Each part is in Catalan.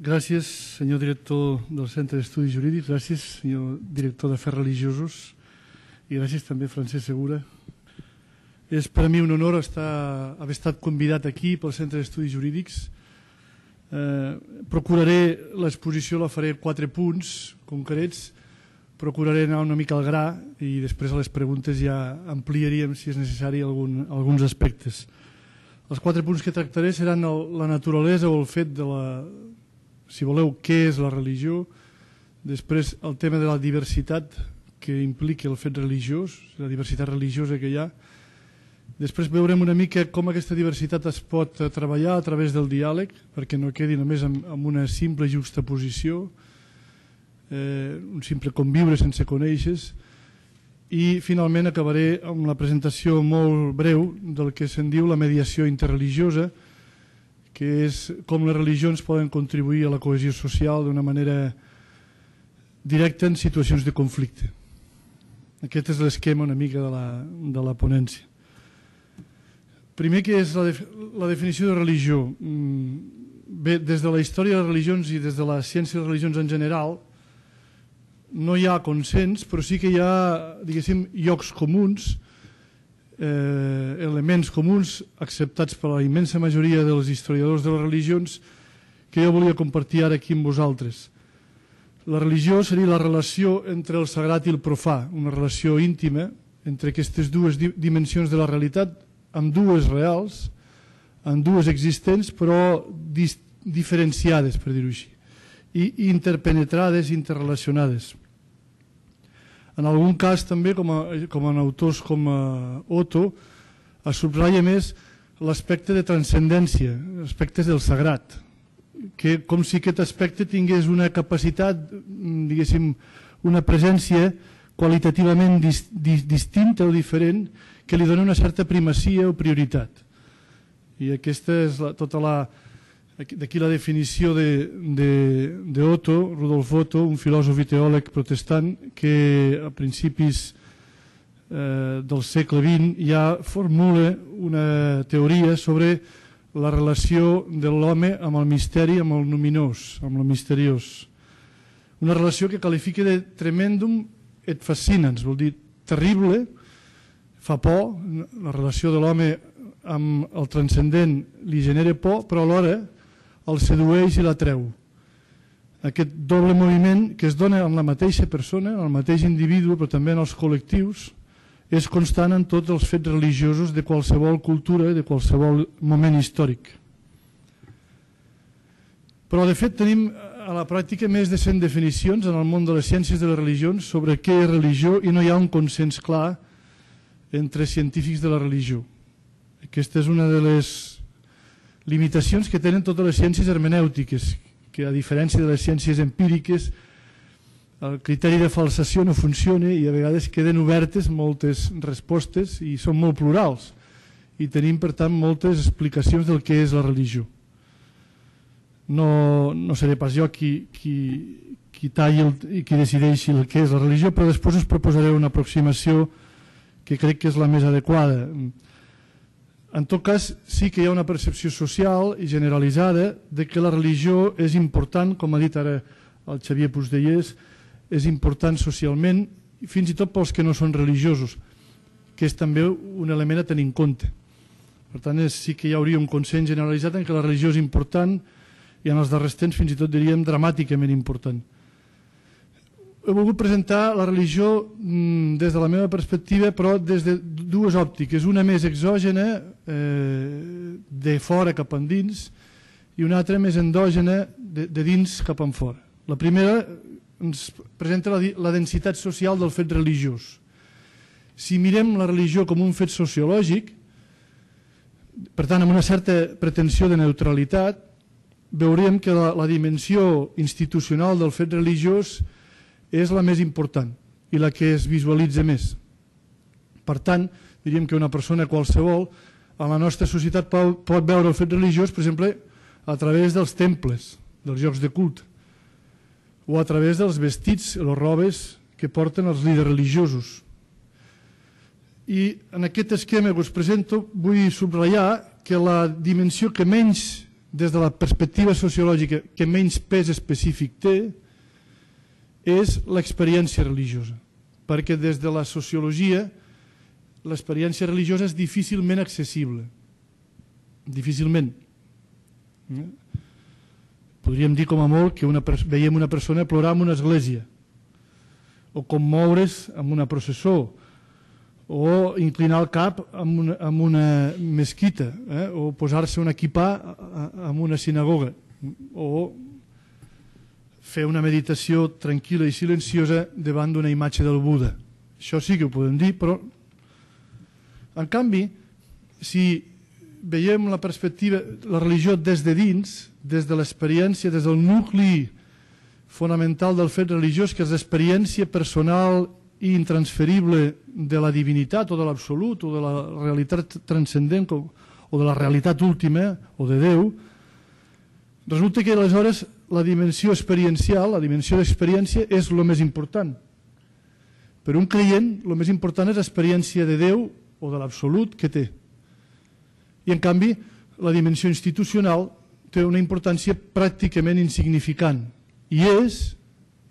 Gràcies, senyor director del Centre d'Estudis Jurídics, gràcies, senyor director d'Afers Religiosos, i gràcies també, Francesc Segura. És per a mi un honor haver estat convidat aquí pel Centre d'Estudis Jurídics. Procuraré, l'exposició la faré 4 punts concrets, procuraré anar una mica al gra i després a les preguntes ja ampliaríem, si és necessari, alguns aspectes. Els 4 punts que tractaré seran la naturalesa o el fet de si voleu, què és la religió, després el tema de la diversitat que implica el fet religiós, la diversitat religiosa que hi ha. Després veurem una mica com aquesta diversitat es pot treballar a través del diàleg, perquè no quedi només amb una simple juxtaposició, un simple conviure sense conèixer. I finalment acabaré amb la presentació molt breu del que se'n diu la mediació interreligiosa, que és com les religions poden contribuir a la cohesió social d'una manera directa en situacions de conflicte. Aquest és l'esquema una mica de la ponència. Primer, què és la definició de religió? Bé, des de la història de les religions i des de la ciència de les religions en general, no hi ha consens, però sí que hi ha, diguéssim, llocs comuns, elements comuns acceptats per la immensa majoria dels historiadors de les religions que jo volia compartir ara aquí amb vosaltres. La religió seria la relació entre el sagrat i el profà, una relació íntima entre aquestes dues dimensions de la realitat, amb dues reals, amb dues existents, però diferenciades, per dir-ho així, i interpenetrades, interrelacionades. En algun cas també, com en autors com Otto, es subratlla més l'aspecte de transcendència, aspectes del sagrat, que com si aquest aspecte tingués una capacitat, diguéssim, una presència qualitativament distinta o diferent que li dona una certa primacia o prioritat. I aquesta és tota d'aquí la definició d'Otto, Rudolf Otto, un filòsof i teòleg protestant que a principis del segle XX ja formula una teoria sobre la relació de l'home amb el misteri, amb el numinós, amb el misteriós. Una relació que qualifica de tremendum et fascinans, vol dir terrible, fa por, la relació de l'home amb el transcendent li genera por, però alhora el sedueix i l'atreu. Aquest doble moviment que es dona en la mateixa persona, en el mateix individu, però també en els col·lectius, és constant en tots els fets religiosos de qualsevol cultura, de qualsevol moment històric. Però, de fet, tenim a la pràctica més de 100 definicions en el món de les ciències de les religions sobre què és religió i no hi ha un consens clar entre científics de la religió. Aquesta és una de les limitacions que tenen totes les ciències hermenèutiques, que a diferència de les ciències empíriques el criteri de falsació no funciona i a vegades queden obertes moltes respostes i són molt plurals i tenim per tant moltes explicacions del que és la religió. No seré pas jo qui talli i qui decideixi el que és la religió, però després us proposaré una aproximació que crec que és la més adequada. En tot cas, sí que hi ha una percepció social i generalitzada de que la religió és important, com ha dit ara el Xavier Puigdellers, és important socialment, fins i tot pels que no són religiosos, que és també un element a tenir en compte. Per tant, sí que hi hauria un consens generalitzat en què la religió és important i en els darrers temps fins i tot diríem dramàticament important. He volgut presentar la religió des de la meva perspectiva, però des de dues òptiques, una més exògena, de fora cap endins, i una altra més endògena, de dins cap enfora. La primera ens presenta la densitat social del fet religiós. Si mirem la religió com un fet sociològic, per tant, amb una certa pretensió de neutralitat, veurem que la dimensió institucional del fet religiós és la més important i la que es visualitza més. Per tant, diríem que una persona qualsevol a la nostra societat pot veure el fet religiós, per exemple, a través dels temples, dels llocs de culte, o a través dels vestits, les robes que porten els líders religiosos. I en aquest esquema que us presento vull subratllar que la dimensió que menys des de la perspectiva sociològica que menys pes específic té és l'experiència religiosa, perquè des de la sociologia l'experiència religiosa és difícilment accessible. Difícilment. Podríem dir com a molt que veiem una persona plorar en una església, o commoure's en una processó, o inclinar el cap en una mesquita, o posar-se un equipà en una sinagoga, o fer una meditació tranquil·la i silenciosa davant d'una imatge del Buda. Això sí que ho podem dir, però en canvi, si veiem la perspectiva, la religió des de dins, des de l'experiència, des del nucli fonamental del fet religiós, que és l'experiència personal i intransferible de la divinitat o de l'absolut o de la realitat transcendent o de la realitat última o de Déu, resulta que aleshores la dimensió experiencial, la dimensió d'experiència és el més important. Per un creient, el més important és l'experiència de Déu o de l'absolut que té. I en canvi, la dimensió institucional té una importància pràcticament insignificant. I és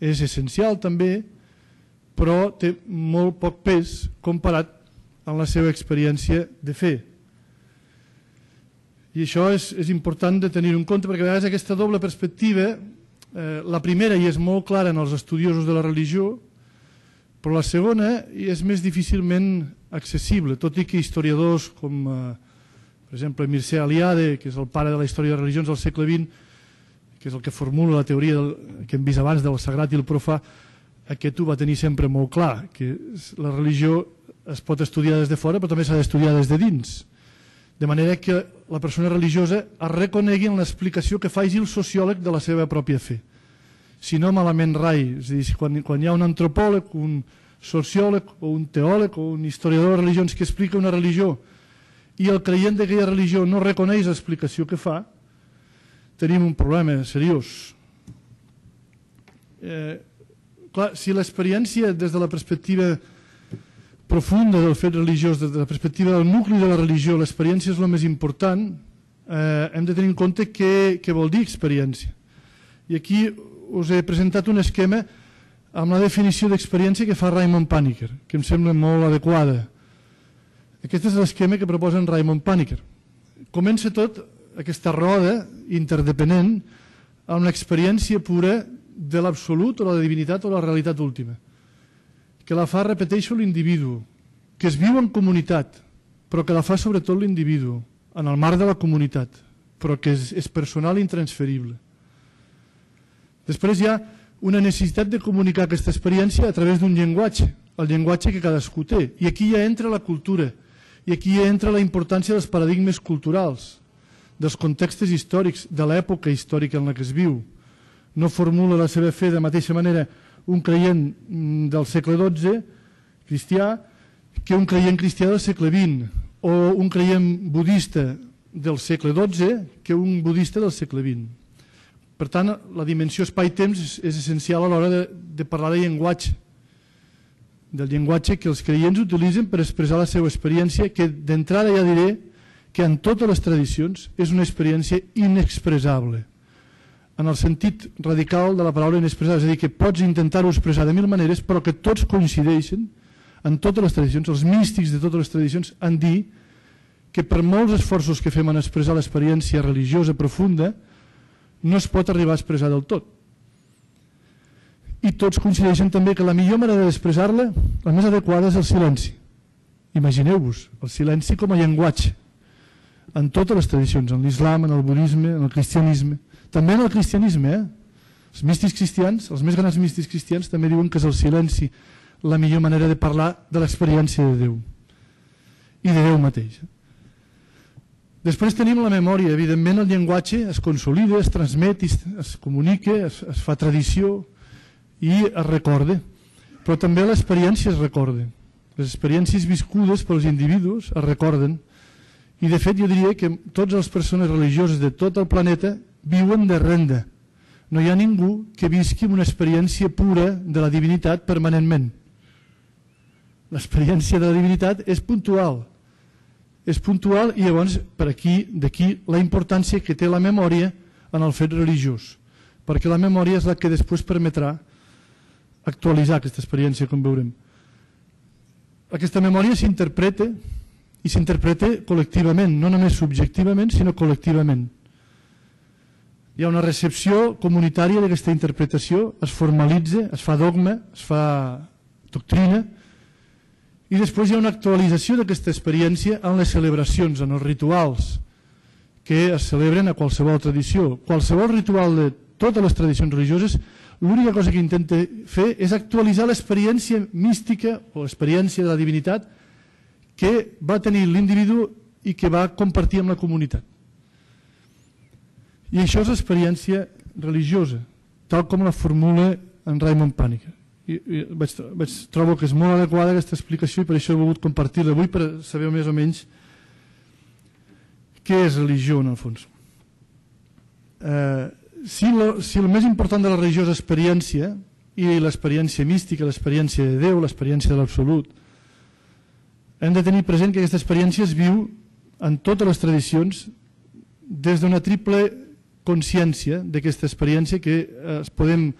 essencial també, però té molt poc pes comparat amb la seva experiència de fe. I això és important de tenir en compte, perquè a vegades aquesta doble perspectiva, la primera i és molt clara en els estudiosos de la religió, però la segona és més difícilment accessible, tot i que historiadors com, per exemple, Mircea Eliade, que és el pare de la història de religions del segle XX, que és el que formula la teoria que hem vist abans del sagrat i el profà, aquest ho va tenir sempre molt clar, que la religió es pot estudiar des de fora, però també s'ha d'estudiar des de dins. De manera que la persona religiosa es reconegui en l'explicació que faci el sociòleg de la seva pròpia fe. Si no, malament rai. És a dir, quan hi ha un antropòleg, un sociòleg o un teòleg o un historiador de religions que explica una religió i el creient d'aquella religió no reconeix l'explicació que fa, tenim un problema seriós. Clar, si l'experiència des de la perspectiva profunda del fet religiós, des de la perspectiva del nucli de la religió, l'experiència és el més important, hem de tenir en compte què vol dir experiència. I aquí us he presentat un esquema amb la definició d'experiència que fa Raymond Panikkar, que em sembla molt adequada. Aquest és l'esquema que proposa en Raymond Panikkar. Comença tot aquesta roda interdependent amb l'experiència pura de l'absolut o la divinitat o la realitat última, que la fa, repeteixo, l'individu, que es viu en comunitat, però que la fa sobretot l'individu, en el marc de la comunitat, però que és personal i intransferible. Després hi ha una necessitat de comunicar aquesta experiència a través d'un llenguatge, el llenguatge que cadascú té. I aquí ja entra la cultura, i aquí ja entra la importància dels paradigmes culturals, dels contextos històrics, de l'època històrica en la que es viu. No formula la seva fe de mateixa manera un creient del segle XII, cristià, que un creient cristià del segle XX, o un creient budista del segle XII que un budista del segle XX. Per tant, la dimensió espai-temps és essencial a l'hora de parlar de llenguatge, del llenguatge que els creients utilitzen per expressar la seva experiència, que d'entrada ja diré que en totes les tradicions és una experiència inexpressable, en el sentit radical de la paraula inexpressable, és a dir, que pots intentar-ho expressar de mil maneres, però que tots coincideixen en totes les tradicions, els místics de totes les tradicions, en dir que per molts esforços que fem en expressar l'experiència religiosa profunda, no es pot arribar a expressar del tot. I tots coincideixen també que la millor manera d'expressar-la, la més adequada, és el silenci. Imagineu-vos, el silenci com a llenguatge, en totes les tradicions, en l'islam, en el budisme, en el cristianisme, també en el cristianisme. Els místics cristians, els més grans místics cristians, també diuen que és el silenci la millor manera de parlar de l'experiència de Déu i de Déu mateix. Després tenim la memòria. Evidentment el llenguatge es consolida, es transmet, es comunica, es fa tradició i es recorda. Però també l'experiència es recorda. Les experiències viscudes pels individus es recorden. I de fet jo diria que totes les persones religioses de tot el planeta viuen de renda. No hi ha ningú que visqui amb una experiència pura de la divinitat permanentment. L'experiència de la divinitat és puntual. és puntual i llavors d'aquí la importància que té la memòria en el fet religiós, perquè la memòria és la que després permetrà actualitzar aquesta experiència, com veurem. Aquesta memòria s'interpreta i s'interpreta col·lectivament, no només subjectivament, sinó col·lectivament. Hi ha una recepció comunitària d'aquesta interpretació, es formalitza, es fa dogma, es fa doctrina, i després hi ha una actualització d'aquesta experiència en les celebracions, en els rituals que es celebren a qualsevol tradició. Qualsevol ritual de totes les tradicions religioses, l'única cosa que intenta fer és actualitzar l'experiència mística o l'experiència de la divinitat que va tenir l'individu i que va compartir amb la comunitat. I això és l'experiència religiosa, tal com la formula en Raymond Panikkar. Trobo que és molt adequada aquesta explicació i per això he volgut compartir-la avui per saber més o menys què és religió en el fons. Si el més important de la religió és l'experiència i l'experiència mística, l'experiència de Déu, l'experiència de l'absolut, hem de tenir present que aquesta experiència es viu en totes les tradicions des d'una triple consciència d'aquesta experiència que es podem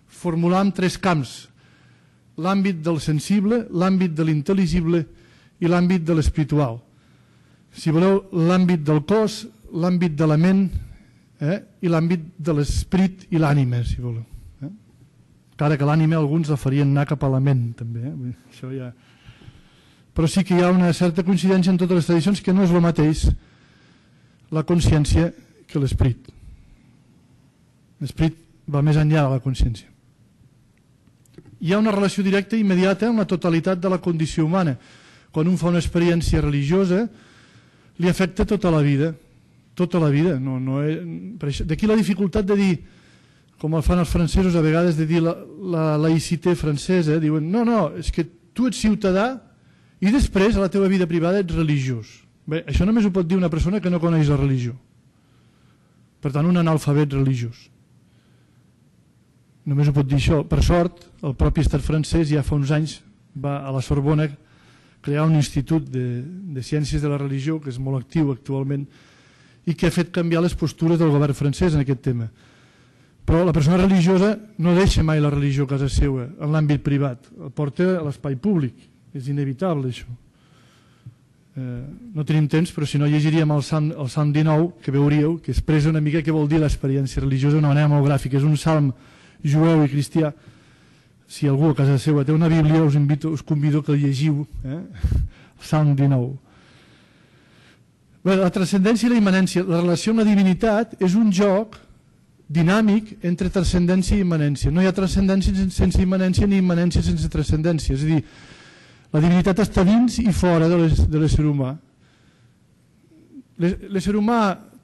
formular en tres camps: l'àmbit del sensible, l'àmbit de l'intel·ligible i l'àmbit de l'espiritual. Si voleu, l'àmbit del cos, l'àmbit de la ment i l'àmbit de l'esperit i l'ànima, si voleu. Encara que l'ànima alguns la farien anar cap a la ment, també. Això ja... Però sí que hi ha una certa coincidència en totes les tradicions que no és el mateix la consciència que l'esperit. L'esperit va més enllà de la consciència. Hi ha una relació directa i immediata amb la totalitat de la condició humana. Quan un fa una experiència religiosa, li afecta tota la vida. Tota la vida. D'aquí la dificultat de dir, com el fan els francesos a vegades, de dir la laïcité francesa, diuen, no, és que tu ets ciutadà i després a la teva vida privada ets religiós. Bé, això només ho pot dir una persona que no coneix la religió. Per tant, un analfabet religiós. Només ho pot dir això. Per sort, el propi estat francès ja fa uns anys va a la Sorbona crear un institut de ciències de la religió que és molt actiu actualment i que ha fet canviar les postures del govern francès en aquest tema. Però la persona religiosa no deixa mai la religió a casa seva, en l'àmbit privat, el porta a l'espai públic. És inevitable això. No tenim temps, però si no llegiríem el Salm 19, que veuríeu, que expressa una mica què vol dir l'experiència religiosa d'una manera molt gràfica. És un salm jueu i cristià. Si algú a casa seva té una Bíblia, us convido que el llegiu, el Salm 19. Bé, la transcendència i la immanència, la relació amb la divinitat és un joc dinàmic entre transcendència i immanència. No hi ha transcendència sense immanència ni immanència sense transcendència. És a dir, la divinitat està dins i fora de l'ésser humà. L'ésser humà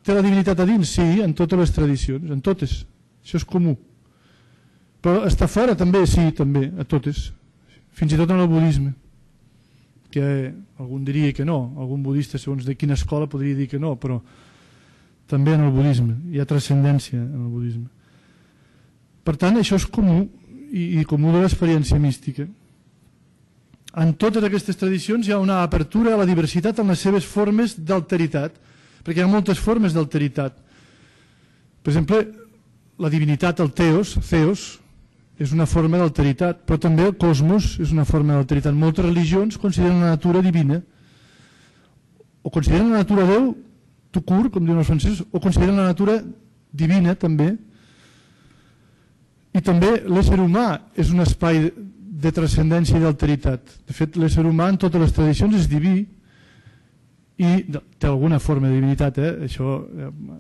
té la divinitat a dins? Sí, en totes les tradicions, en totes. Això és comú. Però està fora també? Sí, també, a totes. Fins i tot en el budisme, que algun diria que no. Algun budista, segons de quina escola, podria dir que no, però també en el budisme. Hi ha transcendència en el budisme. Per tant, això és comú i comú de l'experiència mística. En totes aquestes tradicions hi ha una apertura a la diversitat en les seves formes d'alteritat, perquè hi ha moltes formes d'alteritat. Per exemple, la divinitat, el Theos, és una forma d'alteritat, però també el cosmos és una forma d'alteritat. Moltes religions consideren la natura divina, o consideren la natura Déu, tout court, com diuen els francesos, o consideren la natura divina també. I també l'ésser humà és un espai de transcendència i d'alteritat. De fet, l'ésser humà en totes les tradicions és diví i té alguna forma de divinitat. Això,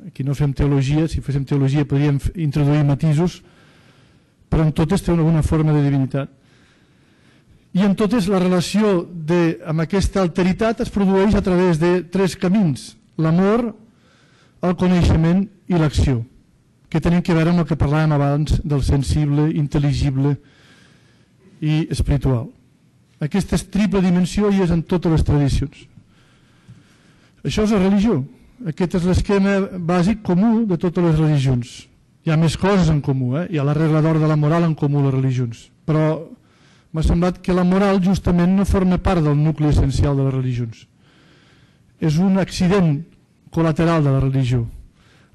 aquí no fem teologia, si féssim teologia podríem introduir matisos, però en totes té alguna forma de divinitat. I en totes la relació amb aquesta alteritat es produeix a través de tres camins: l'amor, el coneixement i l'acció, que tenen a veure amb el que parlàvem abans del sensible, intel·ligible i espiritual. Aquesta triple dimensió hi és en totes les tradicions. Això és la religió. Aquest és l'esquema bàsic comú de totes les religions. Hi ha més coses en comú, hi ha la regla d'or de la moral en comú a les religions, però m'ha semblat que la moral justament no forma part del nucli essencial de les religions. és un accident col·lateral de la religió,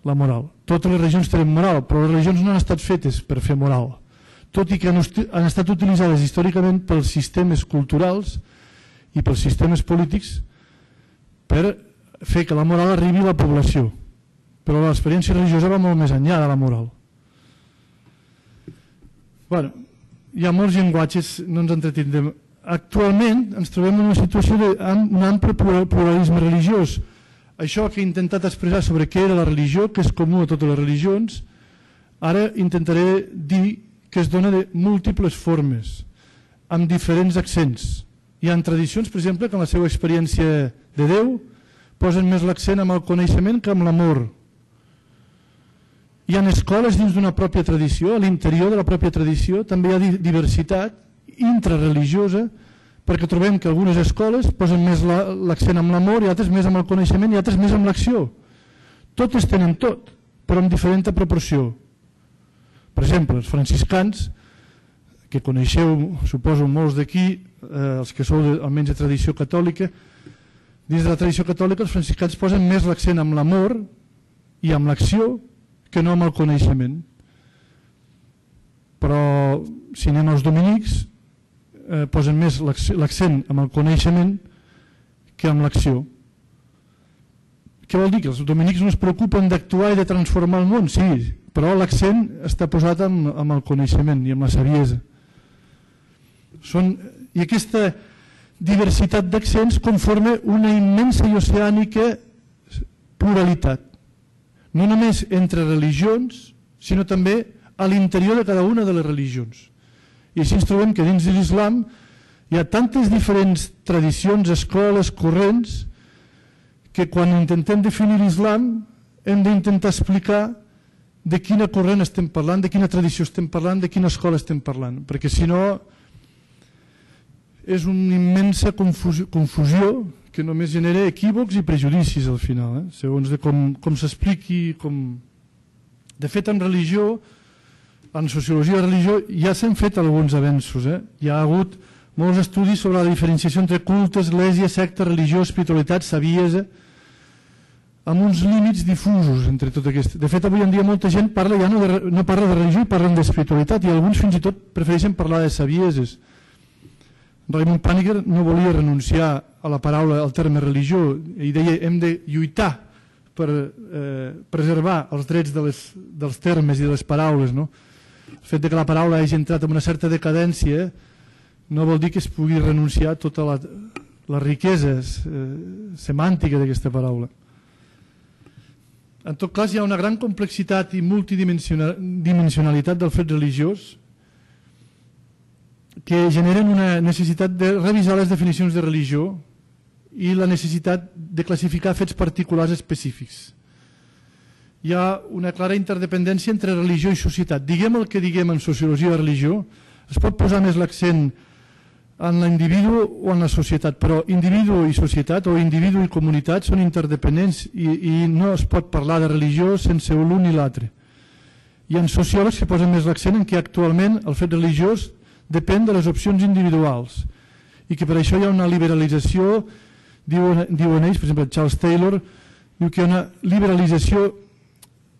la moral. Totes les religions tenen moral, però les religions no han estat fetes per fer moral, tot i que han estat utilitzades històricament pels sistemes culturals i pels sistemes polítics per fer que la moral arribi a la població. Però l'experiència religiosa va molt més enllà de la moral. Bueno, hi ha molts llenguatges, no ens entretindrem. Actualment ens trobem en una situació d'un ample pluralisme religiós. Això que he intentat expressar sobre què era la religió, que és comú a totes les religions, ara intentaré dir que es dona de múltiples formes, amb diferents accents. Hi ha tradicions, per exemple, que en la seva experiència de Déu posen més l'accent amb el coneixement que amb l'amor. Hi ha escoles dins d'una pròpia tradició, a l'interior de la pròpia tradició també hi ha diversitat intrareligiosa, perquè trobem que algunes escoles posen més l'accent amb l'amor i altres més amb el coneixement i altres més amb l'acció. Totes tenen tot, però en diferent proporció. Per exemple, els franciscans, que coneixeu, suposo, molts d'aquí, els que sou almenys de tradició catòlica, dins de la tradició catòlica els franciscans posen més l'accent amb l'amor i amb l'acció que no amb el coneixement. Però si anem als dominics, posen més l'accent amb el coneixement que amb l'acció. Què vol dir? Que els dominics no es preocupen d'actuar i de transformar el món? Sí, però l'accent està posat amb el coneixement i amb la saviesa. I aquesta diversitat d'accents conforma una immensa i oceànica pluralitat. No només entre religions, sinó també a l'interior de cada una de les religions. I així ens trobem que dins de l'islam hi ha tantes diferents tradicions, escoles, corrents, que quan intentem definir l'islam hem d'intentar explicar de quina corrent estem parlant, de quina tradició estem parlant, de quina escola estem parlant, perquè si no és una immensa confusió que només genera equívocs i prejudicis al final, segons de com s'expliqui. De fet, en religió, en sociologia de religió, ja s'han fet alguns avenços. Hi ha hagut molts estudis sobre la diferenciació entre culte, església, secta, religió, espiritualitat, saviesa, amb uns límits difusos entre tot aquest. De fet, avui en dia molta gent ja no parla de religió i parlen d'espiritualitat, i alguns fins i tot prefereixen parlar de savieses. Raymond Paniker no volia renunciar a la paraula, al terme religió, i deia hem de lluitar per preservar els drets dels termes i de les paraules. El fet que la paraula hagi entrat en una certa decadència no vol dir que es pugui renunciar a tota la riquesa semàntica d'aquesta paraula. En tot cas, hi ha una gran complexitat i multidimensionalitat del fet religiós que generen una necessitat de revisar les definicions de religió i la necessitat de classificar fets particulars específics. Hi ha una clara interdependència entre religió i societat. Diguem el que diguem en sociologia de religió, es pot posar més l'accent en l'individu o en la societat, però individu i societat o individu i comunitat són interdependents i no es pot parlar de religió sense l'un i l'altre. Hi ha sociòlegs que posen més l'accent en què actualment el fet religiós depèn de les opcions individuals i que per això hi ha una liberalització, diuen ells, per exemple Charles Taylor, diu que hi ha una liberalització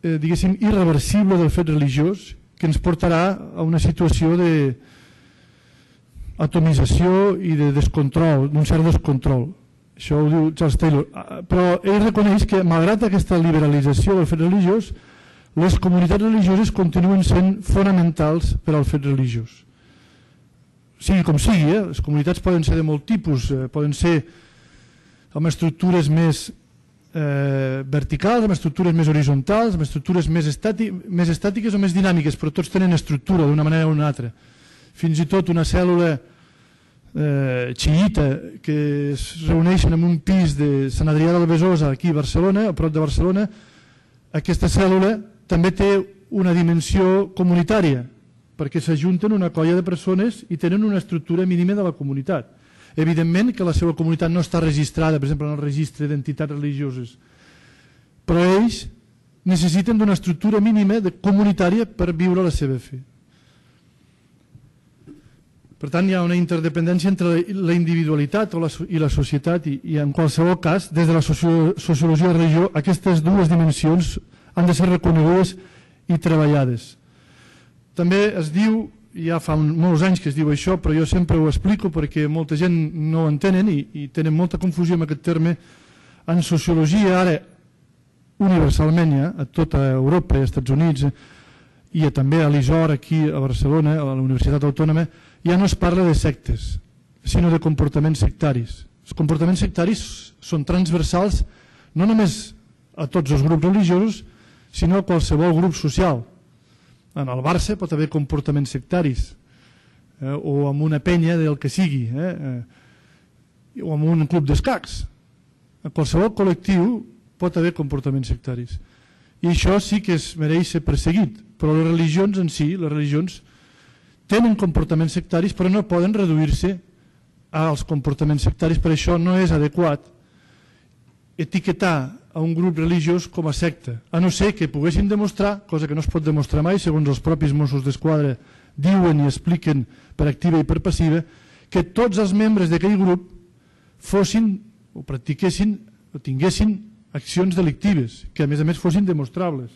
diguéssim irreversible del fet religiós que ens portarà a una situació d'atomització i de descontrol, d'un cert descontrol. Això ho diu Charles Taylor. Però ell reconeix que malgrat aquesta liberalització del fet religiós, les comunitats religioses continuen sent fonamentals per al fet religiós. Sigui com sigui, les comunitats poden ser de molt tipus, poden ser amb estructures més verticals, amb estructures més horitzontals, amb estructures més estàtiques o més dinàmiques, però tots tenen estructura d'una manera o una altra. Fins i tot una cèl·lula xiïta que es reuneixen en un pis de Sant Adrià del Besòs aquí a Barcelona, a prop de Barcelona, aquesta cèl·lula també té una dimensió comunitària, perquè s'ajunten una colla de persones i tenen una estructura mínima de la comunitat. Evidentment que la seva comunitat no està registrada, per exemple, en el registre d'entitats religioses, però ells necessiten d'una estructura mínima comunitària per viure la seva fe. Per tant, hi ha una interdependència entre la individualitat i la societat i en qualsevol cas, des de la sociologia de religió, aquestes dues dimensions han de ser reconegudes i treballades. També es diu, ja fa molts anys que es diu això, però jo sempre ho explico perquè molta gent no ho entenen i tenen molta confusió amb aquest terme. En sociologia, ara, universalment, a tota Europa i als Estats Units, i també a l'ISOR, aquí a Barcelona, a la Universitat Autònoma, ja no es parla de sectes, sinó de comportaments sectaris. Els comportaments sectaris són transversals no només a tots els grups religiosos, sinó a qualsevol grup social. En el Barça pot haver comportaments sectaris, o amb una penya del que sigui, o amb un club d'escacs. A qualsevol col·lectiu pot haver comportaments sectaris. I això sí que es mereix ser perseguit, però les religions en si, les religions tenen comportaments sectaris però no poden reduir-se als comportaments sectaris. Per això no és adequat etiquetar a un grup religiós com a secta, a no ser que poguessin demostrar, cosa que no es pot demostrar mai segons els propis Mossos d'Esquadra diuen i expliquen per activa i per passiva, que tots els membres d'aquell grup fossin o practiquessin o tinguessin accions delictives, que a més fossin demostrables.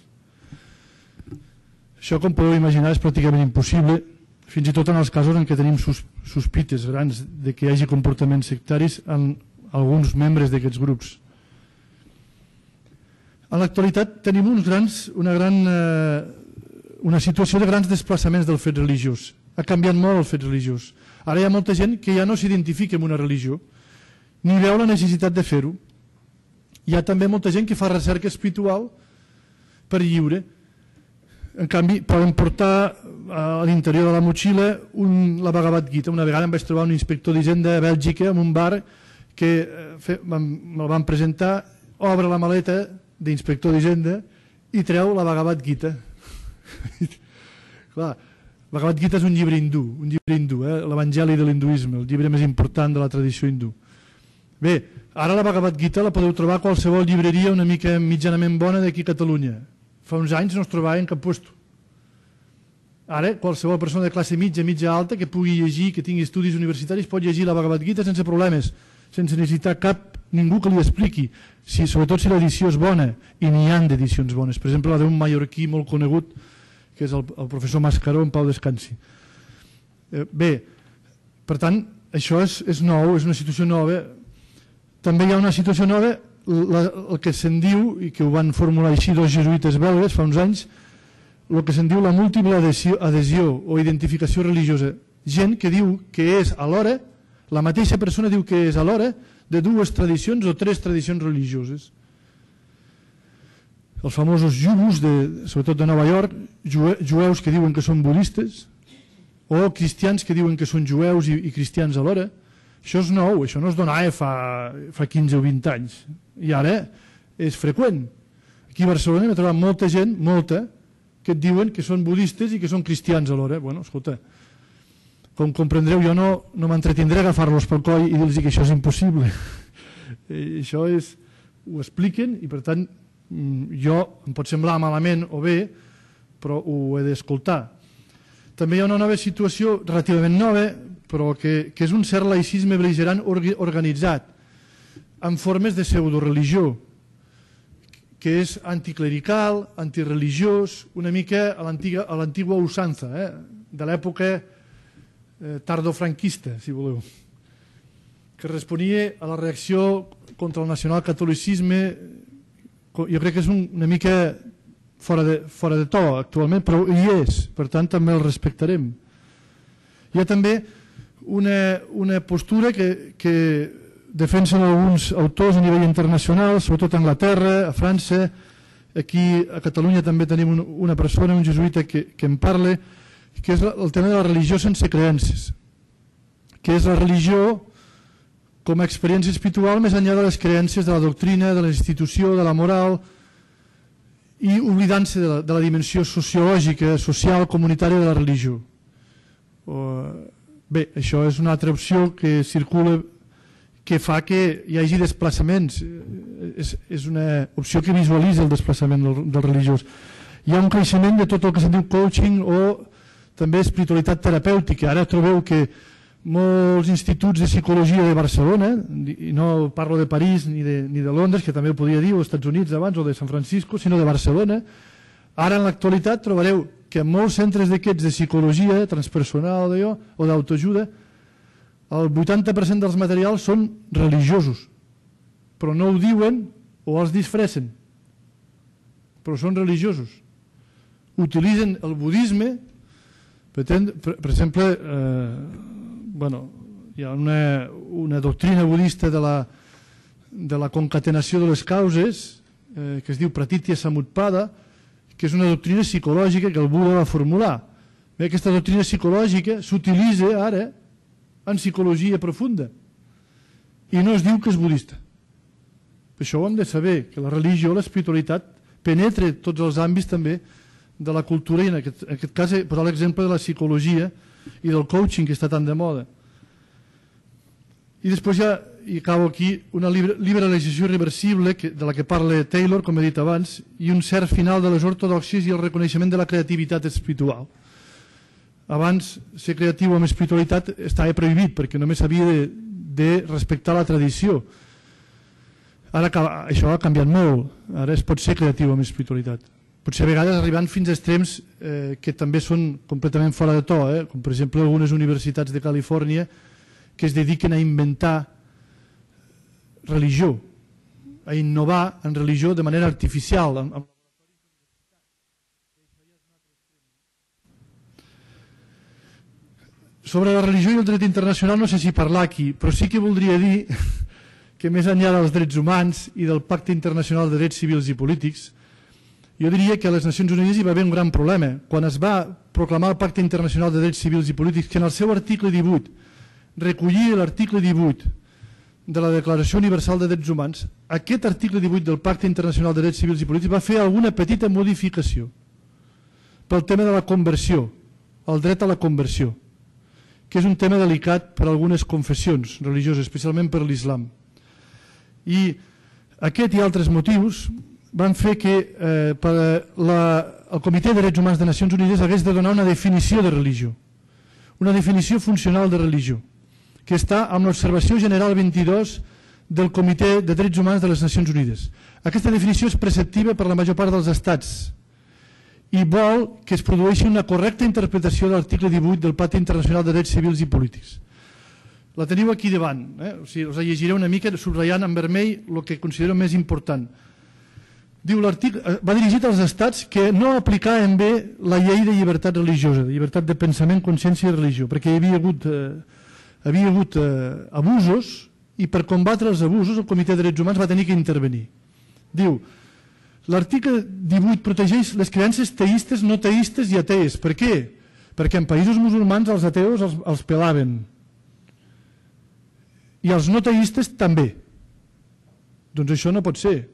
Això, com podeu imaginar, és pràcticament impossible, fins i tot en els casos en què tenim sospites grans de que hi hagi comportaments sectaris en alguns membres d'aquests grups. En l'actualitat tenim una situació de grans desplaçaments del fet religiós. Ha canviat molt el fet religiós. Ara hi ha molta gent que ja no s'identifica amb una religió, ni veu la necessitat de fer-ho. Hi ha també molta gent que fa recerca espiritual per lliure. En canvi, poden portar a l'interior de la motxilla la Bhagavad Gita. Una vegada em vaig trobar un inspector d'Hisenda a Bèlgica en un bar que me'l van presentar, obre la maleta d'inspector d'Hisenda i treu la Bhagavad Gita. Clar, Bhagavad Gita és un llibre hindú, l'Evangeli de l'hinduisme, el llibre més important de la tradició hindú. Bé, ara la Bhagavad Gita la podeu trobar a qualsevol llibreria una mica mitjanament bona d'aquí a Catalunya. Fa uns anys no es trobava en cap puesto. Ara qualsevol persona de classe mitja alta que pugui llegir, que tingui estudis universitaris, pot llegir la Bhagavad Gita sense problemes, sense necessitar ningú que li expliqui, sobretot si l'edició és bona, i n'hi ha d'edicions bones. Per exemple, la d'un mallorquí molt conegut, que és el professor Mascaró, en pau descansi. Bé, per tant, això és nou, és una situació nova. També hi ha una situació nova, el que se'n diu, i que ho van formular així dos jesuïtes belgues fa uns anys, el que se'n diu la múltiple adhesió o identificació religiosa. Gent que diu que és alhora, la mateixa persona diu que és alhora de dues tradicions o tres tradicions religioses. Els famosos yubus, sobretot de Nova York, jueus que diuen que són budistes, o cristians que diuen que són jueus i cristians alhora. Això és nou, això no es donava fa 15 o 20 anys, i ara és freqüent. Aquí a Barcelona m'he trobat molta gent, que et diuen que són budistes i que són cristians alhora. Bueno, escolta, com comprendreu, jo no m'entretindré a agafar-los pel coll i dir-los que això és impossible. Això ho expliquen i, per tant, jo em pot semblar malament o bé, però ho he d'escoltar. També hi ha una nova situació, relativament nova, però que és un cert laïcisme bel·ligerant organitzat en formes de pseudoreligió, que és anticlerical, antireligiós, una mica a l'antigua usança, de l'època tardofranquista, si voleu, que responia a la reacció contra el nacionalcatolicisme. Jo crec que és una mica fora de to actualment, però hi és, per tant també el respectarem. Hi ha també una postura que defensen alguns autors a nivell internacional, sobretot a Anglaterra, a França, aquí a Catalunya també tenim una persona, un jesuïta que en parla, que és el tema de la religió sense creences, que és la religió com a experiència espiritual més enllà de les creences de la doctrina, de la institució, de la moral, i oblidant-se de la dimensió sociològica, social, comunitària de la religió. Bé, això és una altra opció que circula, que fa que hi hagi desplaçaments. És una opció que visualitza el desplaçament del religiós. Hi ha un creixement de tot el que se'n diu coaching o també espiritualitat terapèutica. Ara trobeu que molts instituts de psicologia de Barcelona, i no parlo de París ni de Londres, que també ho podria dir, o dels Estats Units abans, o de San Francisco, sinó de Barcelona. Ara, en l'actualitat, trobareu que en molts centres d'aquests de psicologia transpersonal o d'autoajuda, el 80% dels materials són religiosos, però no ho diuen o els disfressen, però són religiosos. Utilitzen el budisme, per exemple, hi ha una doctrina budista de la concatenació de les causes, que es diu Pratitya Samutpada, que és una doctrina psicològica que el Buda va formular. Aquesta doctrina psicològica s'utilitza ara en psicologia profunda i no es diu que és budista. Per això ho hem de saber, que la religió, l'espiritualitat, penetra tots els àmbits també de la cultura, i en aquest cas he posat l'exemple de la psicologia i del coaching, que està tan de moda. I després ja, i acabo aquí, una liberalització irreversible de la que parla Taylor, com he dit abans, i un cert final de les ortodoxies i el reconeixement de la creativitat espiritual. Abans, ser creatiu amb espiritualitat estava prohibit, perquè només s'havia de respectar la tradició. Ara això ha canviat molt, ara es pot ser creatiu amb espiritualitat. Potser a vegades arribant fins a extrems que també són completament fora de to, com per exemple algunes universitats de Califòrnia que es dediquen a inventar religió, a innovar en religió de manera artificial. Sobre la religió i el dret internacional no sé si parlar aquí, però sí que voldria dir que més enllà dels drets humans i del Pacte Internacional de Drets Civils i Polítics, jo diria que a les Nacions Unides hi va haver un gran problema. Quan es va proclamar el Pacte Internacional de Drets Civils i Polítics, que en el seu article 18 recollia l'article 18 de la Declaració Universal de Drets Humans, aquest article 18 del Pacte Internacional de Drets Civils i Polítics va fer alguna petita modificació pel tema de la conversió, el dret a la conversió, que és un tema delicat per a algunes confessions religioses, especialment per l'islam. I aquest i altres motius van fer que el Comitè de Drets Humans de Nacions Unides hagués de donar una definició de religió, una definició funcional de religió, que està amb l'Observació General 22 del Comitè de Drets Humans de les Nacions Unides. Aquesta definició és preceptiva per la major part dels estats i vol que es produeixi una correcta interpretació de l'article 18 del Pacte Internacional de Drets Civils i Polítics. La teniu aquí davant, o sigui, us la llegiré una mica subratllant en vermell el que considero més important. Diu l'article, va dirigit als estats que no aplicaven bé la llei de llibertat religiosa, de llibertat de pensament, consciència i religió, perquè hi havia hagut abusos i per combatre els abusos el Comitè de Drets Humans va tenir que intervenir. Diu, l'article 18 protegeix les creences teistes, no teistes i atees. Per què? Perquè en països musulmans els ateus els pelaven i els no teistes també. Doncs això no pot ser.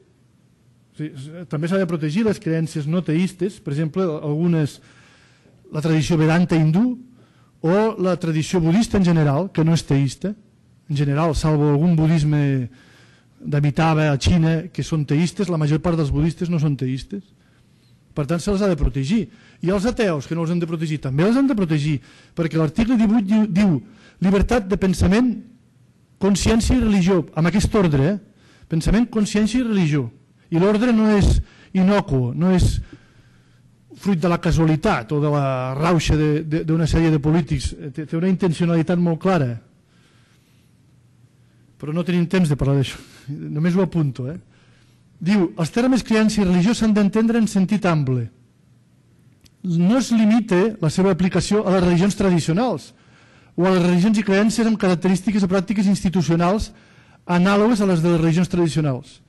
També s'ha de protegir les creences no teistes, per exemple, la tradició Vedanta hindú o la tradició budista en general, que no és teista, en general, salvo algun budisme d'Amitabha a Xina, que són teistes, la major part dels budistes no són teistes. Per tant, se'ls ha de protegir. I els ateus, que no els hem de protegir, també els hem de protegir, perquè l'article 18 diu llibertat de pensament, consciència i religió, amb aquest ordre, pensament, consciència i religió. I l'ordre no és innocuo, no és fruit de la casualitat o de la rauxa d'una sèrie de polítics, té una intencionalitat molt clara. Però no tenim temps de parlar d'això, només ho apunto. Diu, els termes creença i religió s'han d'entendre en sentit ample. No es limita la seva aplicació a les religions tradicionals o a les religions i creences amb característiques o pràctiques institucionals anàlogues a les de les religions tradicionals.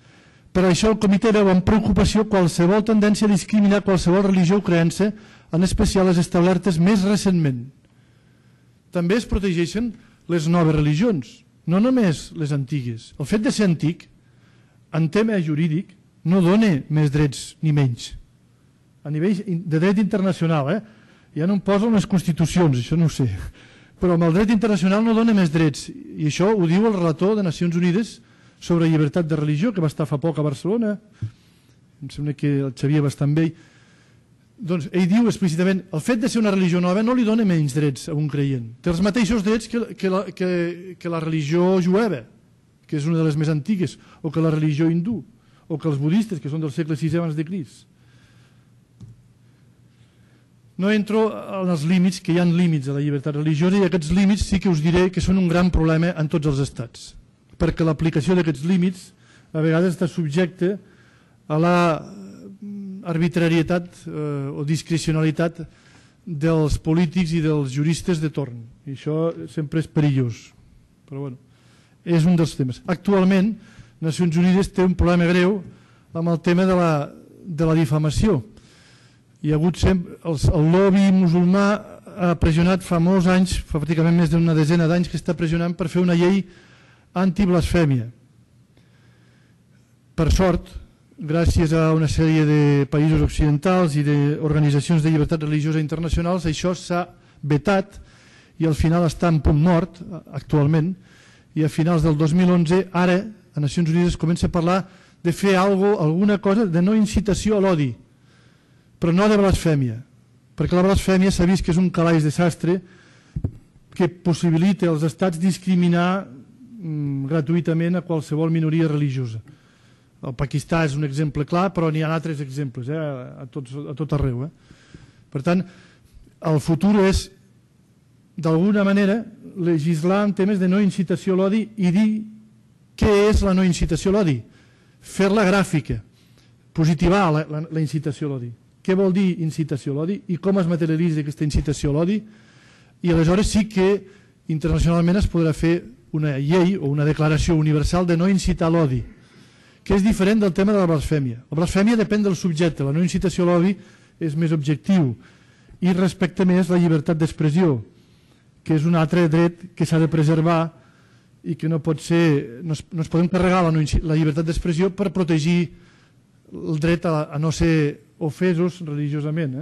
Per això el comitè veu amb preocupació qualsevol tendència a discriminar qualsevol religió o creença, en especial les establertes més recentment. També es protegeixen les noves religions, no només les antigues. El fet de ser antic, en tema jurídic, no dona més drets ni menys. A nivell de dret internacional, ja no em poso en les constitucions, això no ho sé, però amb el dret internacional no dona més drets, i això ho diu el relator de Nacions Unides sobre llibertat de religió, que va estar fa poc a Barcelona, em sembla que el Xavier Bastant Vell. Doncs ell diu explícitament el fet de ser una religió nova no li dona menys drets a un creient. Té els mateixos drets que la religió jueva, que és una de les més antigues, o que la religió hindú, o que els budistes, que són del segle VI abans de Crist. No entro en els límits, que hi ha límits a la llibertat religiosa, i aquests límits sí que us diré que són un gran problema en tots els estats, perquè l'aplicació d'aquests límits a vegades està subjecte a la arbitrarietat o discrecionalitat dels polítics i dels juristes de torn. I això sempre és perillós. Però bueno, és un dels temes. Actualment, Nacions Unides té un problema greu amb el tema de la difamació. Hi ha hagut sempre, el lobby musulmà ha pressionat fa molts anys, fa pràcticament més d'una desena d'anys que està pressionant per fer una llei antiblasfèmia. Per sort, gràcies a una sèrie de països occidentals i d'organitzacions de llibertat religiosa internacionals, això s'ha vetat i al final està en punt mort actualment, i a finals del 2011 ara a Nacions Unides comença a parlar de fer alguna cosa de no incitació a l'odi, però no de blasfèmia, perquè la blasfèmia s'ha vist que és un calaix de sastre que possibilita als estats discriminar gratuïtament a qualsevol minoria religiosa. El Pakistà és un exemple clar, però n'hi ha altres exemples a tot arreu. Per tant, el futur és, d'alguna manera, legislar en temes de no incitació a l'odi i dir què és la no incitació a l'odi. Fer-la gràfica, positivar la incitació a l'odi. Què vol dir incitació a l'odi i com es materialitza aquesta incitació a l'odi? I aleshores sí que internacionalment es podrà fer una llei o una declaració universal de no incitar a l'odi, que és diferent del tema de la blasfèmia. La blasfèmia depèn del subjecte, la no incitació a l'odi és més objectiu i respecta més la llibertat d'expressió, que és un altre dret que s'ha de preservar i que no pot ser, no es podem carregar la llibertat d'expressió per protegir el dret a no ser ofesos religiosament.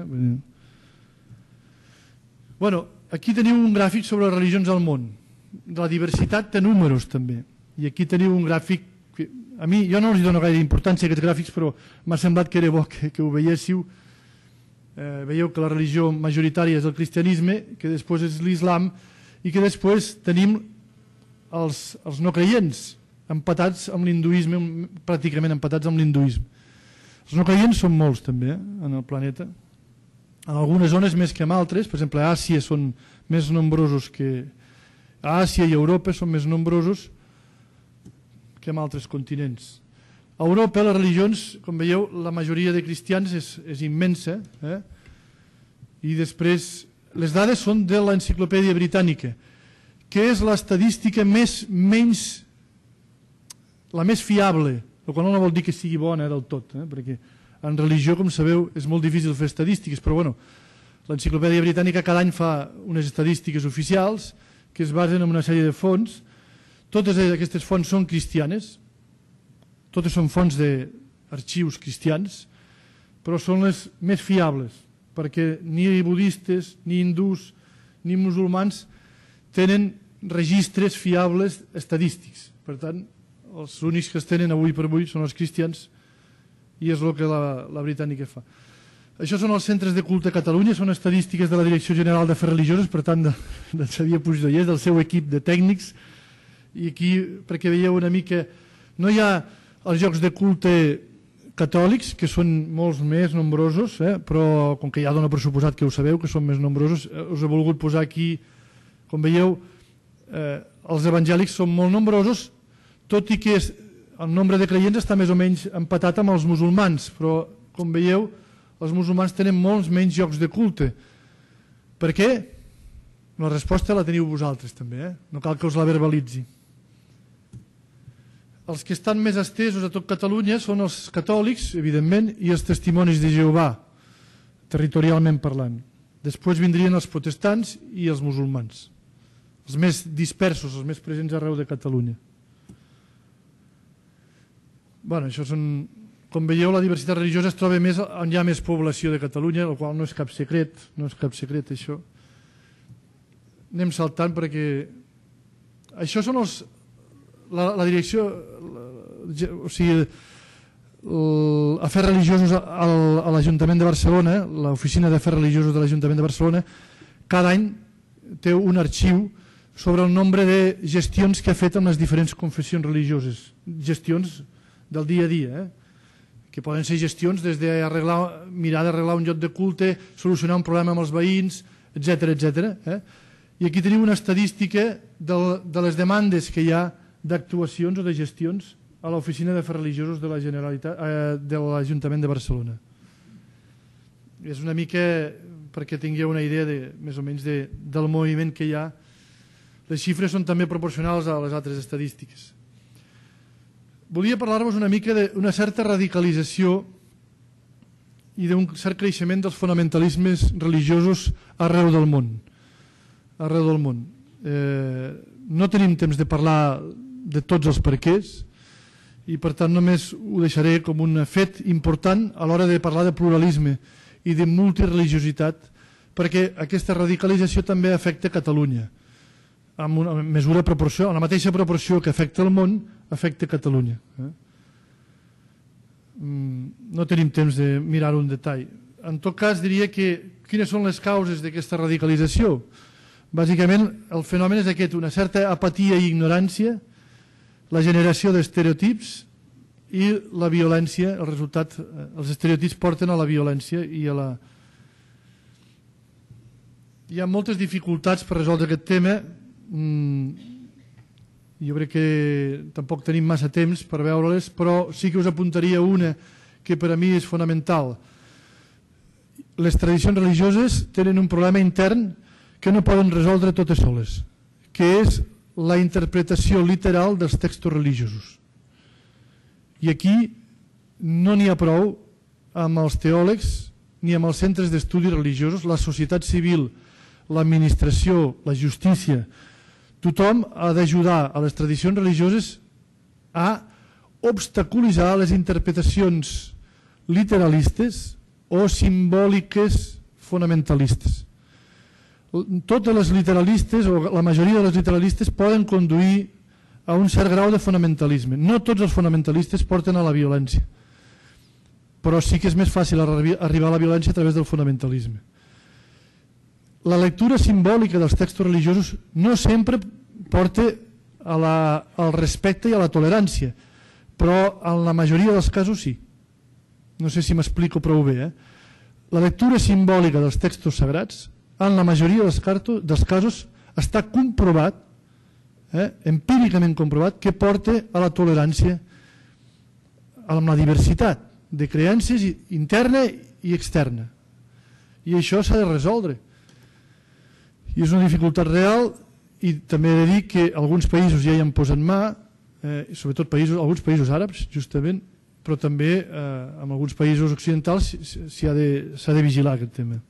Bueno, aquí teniu un gràfic sobre les religions al món, de la diversitat de números també, i aquí teniu un gràfic que a mi, jo no els dono gaire importància a aquests gràfics, però m'ha semblat que era bo que ho veiéssiu. Veieu que la religió majoritària és el cristianisme, que després és l'islam i que després tenim els no creients empatats amb l'hinduisme, pràcticament empatats amb l'hinduisme. Els no creients són molts també en el planeta, en algunes zones més que en altres. Per exemple, a Àsia són més nombrosos que a Àsia i a Europa són més nombrosos que en altres continents. A Europa les religions, com veieu, la majoria de cristians és immensa, i després les dades són de l'Enciclopèdia Britànica, que és l'estadística la més fiable, el qual no vol dir que sigui bona del tot, perquè en religió, com sabeu, és molt difícil fer estadístiques, però bueno, l'Enciclopèdia Britànica cada any fa unes estadístiques oficials que es basen en una sèrie de fonts. Totes aquestes fonts són cristianes, totes són fonts d'arxius cristians, però són les més fiables, perquè ni budistes, ni hindús, ni musulmans tenen registres fiables estadístics. Per tant, els únics que es tenen avui per avui són els cristians i és el que la britànica fa. Això són els centres de culte a Catalunya, són estadístiques de la Direcció General d'Afers Religiosos, per tant, de Xavier Puigdollers, del seu equip de tècnics. I aquí, perquè veieu una mica, no hi ha els llocs de culte catòlics, que són molts més nombrosos, però com que ja dona per suposat que ho sabeu, que són més nombrosos, us he volgut posar aquí, com veieu, els evangèlics són molt nombrosos, tot i que el nombre de creients està més o menys empatat amb els musulmans, però, com veieu, els musulmans tenen molts menys llocs de culte. Per què? La resposta la teniu vosaltres també, no cal que us la verbalitzi. Els que estan més estesos a tot Catalunya són els catòlics, evidentment, i els testimonis de Jehovà, territorialment parlant. Després vindrien els protestants i els musulmans, els més dispersos, els més presents arreu de Catalunya. Bueno, això són... Com veieu, la diversitat religiosa es troba més on hi ha més població de Catalunya, el qual no és cap secret, això. Anem saltant perquè... Això són la direcció... O sigui, Afers Religiosos a l'Ajuntament de Barcelona, l'Oficina d'Afers Religiosos de l'Ajuntament de Barcelona, cada any té un arxiu sobre el nombre de gestions que ha fet amb les diferents confessions religioses, gestions del dia a dia, que poden ser gestions des de mirar d'arreglar un lloc de culte, solucionar un problema amb els veïns, etc. I aquí tenim una estadística de les demandes que hi ha d'actuacions o de gestions a l'Oficina d'Afers Religiosos de l'Ajuntament de Barcelona. És una mica perquè tingueu una idea més o menys del moviment que hi ha. Les xifres són també proporcionals a les altres estadístiques. Volia parlar-vos una mica d'una certa radicalització i d'un cert creixement dels fonamentalismes religiosos arreu del món. No tenim temps de parlar de tots els perquès, i per tant només ho deixaré com un fet important a l'hora de parlar de pluralisme i de multireligiositat, perquè aquesta radicalització també afecta Catalunya amb una mesura proporció, en la mateixa proporció que afecta el món, afecta Catalunya. No tenim temps de mirar-ho en detall. En tot cas diria que quines són les causes d'aquesta radicalització? Bàsicament el fenomen és aquest, una certa apatia i ignorància, la generació d'estereotips i la violència, el resultat, els estereotips porten a la violència i a la... Hi ha moltes dificultats per resoldre aquest tema. Jo crec que tampoc tenim massa temps per veure-les, però sí que us apuntaria una que per a mi és fonamental. Les tradicions religioses tenen un problema intern que no poden resoldre totes soles, que és la interpretació literal dels textos religiosos. I aquí no n'hi ha prou amb els teòlegs ni amb els centres d'estudis religiosos, la societat civil, l'administració, la justícia. Tothom ha d'ajudar a les tradicions religioses a obstaculitzar les interpretacions literalistes o simbòliques fonamentalistes. Totes les literalistes, o la majoria de les literalistes, poden conduir a un cert grau de fonamentalisme. No tots els fonamentalistes porten a la violència, però sí que és més fàcil arribar a la violència a través del fonamentalisme. La lectura simbòlica dels textos religiosos no sempre porta al respecte i a la tolerància, però en la majoria dels casos sí. No sé si m'explico prou bé. La lectura simbòlica dels textos sagrats en la majoria dels casos està comprovat, empíricament comprovat, que porta a la tolerància amb la diversitat de creences interna i externa. I això s'ha de resoldre. I és una dificultat real, i també he de dir que alguns països ja hi han posat mà, sobretot alguns països àrabs, justament, però també en alguns països occidentals s'ha de vigilar aquest tema.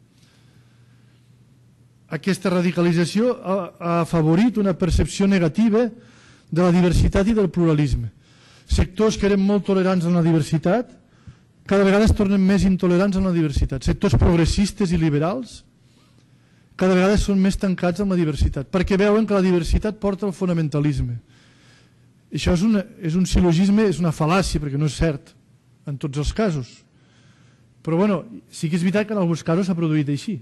Aquesta radicalització ha afavorit una percepció negativa de la diversitat i del pluralisme. Sectors que eren molt tolerants amb la diversitat cada vegada es tornen més intolerants amb la diversitat. Sectors progressistes i liberals cada vegada són més tancats amb la diversitat, perquè veuen que la diversitat porta al fonamentalisme. Això és un sil·logisme, és una fal·làcia, perquè no és cert en tots els casos. Però sí que és veritat que en alguns casos s'ha produït així.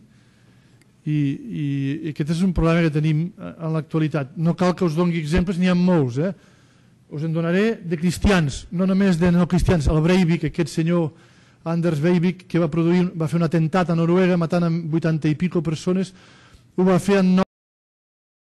I aquest és un problema que tenim en l'actualitat. No cal que us doni exemples, n'hi ha molts. Us en donaré de cristians, no només de no cristians. El Breivik, aquest senyor Anders Breivik, que va fer un atemptat a Noruega matant 80 i pico persones, ho va fer en nom